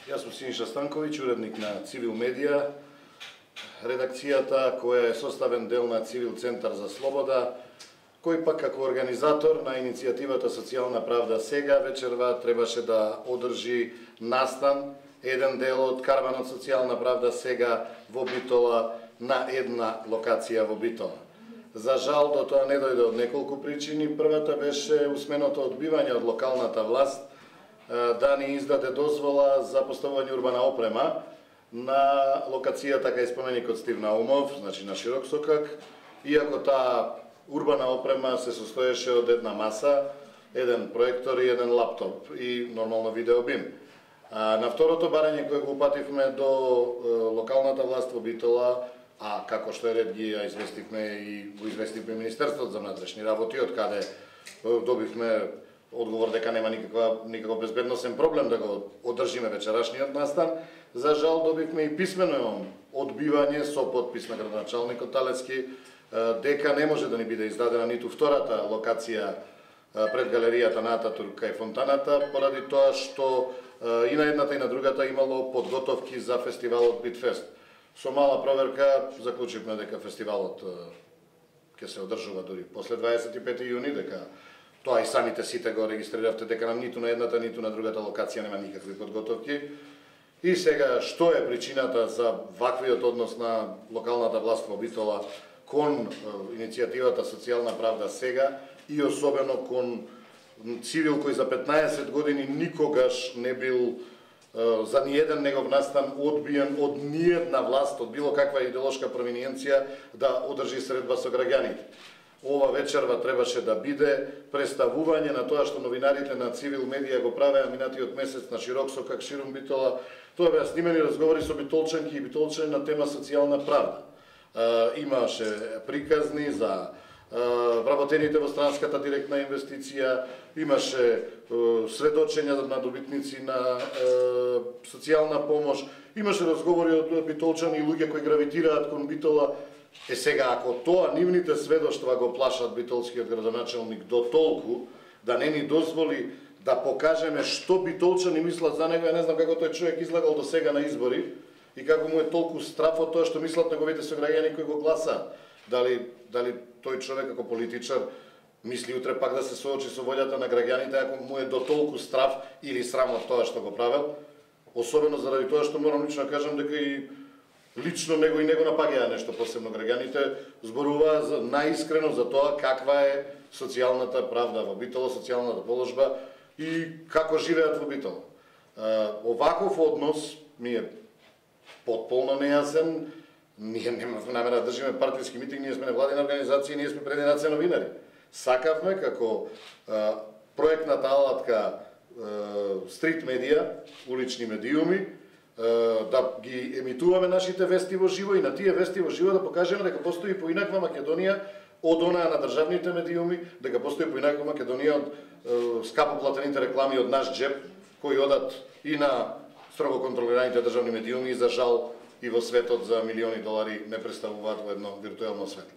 Јас сум Синиша Станковиќ, уредник на Цивил Медија, редакцијата која е составен дел на Цивил Центар за слобода, кој пак како организатор на иницијативата Социјална правда сега вечерва требаше да одржи настан, еден дел од караванот Социјална правда сега во Битола на една локација во Битола. За жал, до тоа не дојде од неколку причини. Првата беше усменото одбивање од локалната власт да ни издаде дозвола за поставување урбана опрема на локацијата кај споменикот Стив Наумов, значи на Широк Сокак, иако таа урбана опрема се состоеше од една маса, еден проектор и еден лаптоп и нормално видеобим. На второто барање кое го упативме до локалната власт во Битола, а како што е ред ги известивме и го известивме Министерството за внатрешни работи, од каде добивме одговор дека нема никаков безбедносен проблем да го одржиме вечерашниот настан. За жал добивме и писмено одбивање со подпис на градоначалникот Талецки дека не може да ни биде издадена ниту втората локација пред галеријата на Ататурк кај фонтаната, поради тоа што и на едната и на другата имало подготовки за фестивалот Битфест. Со мала проверка заклучивме дека фестивалот ќе се одржува дури после 25 јуни, дека тоа и самите сите го регистриравте дека нам ниту на едната, ниту на другата локација нема никакви подготовки. И сега, што е причината за ваквиот однос на локалната власт во Битола кон иницијативата Социјална правда сега и особено кон Цивил кој за 15 години никогаш не бил за ниеден негов настан одбиен од ниедна власт, од било каква идеолошка провиненција да одржи средба со граѓаните. Ова вечерва требаше да биде представување на тоа што новинарите на Цивил Медија го правеа минатиот месец на Широк Сокак, ширум Битола. Тоа беа снимени разговори со битолчанки и битолчани на тема социјална правда. Имаше приказни за вработените во странската директна инвестиција, имаше сведочења на добитници на социјална помош, имаше разговори од битолчани и луѓе кои гравитираат кон Битола. Сега, ако тоа нивните сведоштва го плашат битолскиот градоначалник до толку да не ни дозволи да покажеме што битолчани мислат за него, ја не знам како тој човек излагал до сега на избори и како му е толку страф од тоа што мислат неговите сограѓани кои го гласаат. Дали тој човек како политичар мисли утре пак да се соочи со волјата на граѓаните ако му е до толку страф или срам од тоа што го правел, особено заради тоа што морам лично да кажам дека и лично него и него напаѓаа нешто посебно граѓаните, зборуваа за наискрено за тоа каква е социјалната правда во Битола, социјалната положба и како живеат во Битола. Оваков однос ми е потполно нејасен. Ние немавме намера да држиме партиски митинг, ние сме невладина организација, ние сме прединација новинари. Сакавме како проектната алатка стрит медија, улични медиуми, да ги емитуваме нашите вести во живо и на тие вести во живо да покажеме дека постои поинаква Македонија од онаа на државните медиуми, дека постои поинаква Македонија од скапо платените реклами од наш джеб, кои одат и на строго контролираните државни медиуми и за жал и во светот за милиони долари не представуваат во едно виртуелно светло.